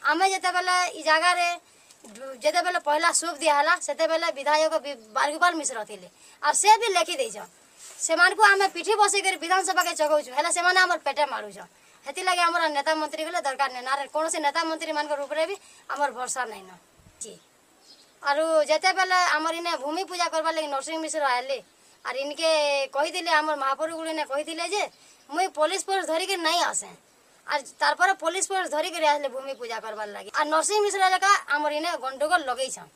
ଆମେ ଯେତେବେଲେ ଇ ଜାଗାରେ ଯେତେବେଲେ ପହିଲା ସୁପ୍ ଦିଆହେଲା, ସେତେବେଲେ ବିଧାୟକ ବାଲଗୋପାଲ ମିଶ୍ର ଥିଲେ, ଆର୍ ସେ ବି ଲେଖି ଦେଇଛନ୍। ସେମାନଙ୍କୁ ଆମେ ପିଠି ବସେଇକରି ବିଧାନସଭାକେ ଚଗଉଛୁ, ହେଲେ ସେମାନେ ଆମର ପେଟେ ମାରୁଛନ୍। ହେଥିଲାଗି ଆମର ନେତା ମନ୍ତ୍ରୀ ଗଲେ ଦରକାର ନାଇଁ, ଆର୍ କୌଣସି ନେତା ମନ୍ତ୍ରୀ ମାନଙ୍କର ଉପରେ ବି ଆମର ଭରସା ନାଇଁନ। ଆରୁ ଯେତେବେଲେ ଆମର ଇନେ ଭୂମି ପୂଜା କରବାର୍ ଲାଗି ନରସିଂହ ମିଶ୍ର ଆଇଲେ, ଆର୍ ଇନକେ କହିଥିଲେ, ଆମର ମହାପ୍ରଭୁ ଇନେ କହିଥିଲେ ଯେ ମୁଇଁ ପୋଲିସ ଫୋର୍ସ ଧରିକି ନାଇଁ ଆସେ, ଆର୍ ତାରପରେ ପୋଲିସ ଫୋର୍ସ ଧରିକିରି ଆସିଲେ ଭୂମି ପୂଜା କରବାର୍ ଲାଗି। ଆର୍ ନରସିଂହ ମିଶ୍ର ଲେଖା ଆମର ଇନେ ଗଣ୍ଡଗୋଳ ଲଗେଇଛନ୍।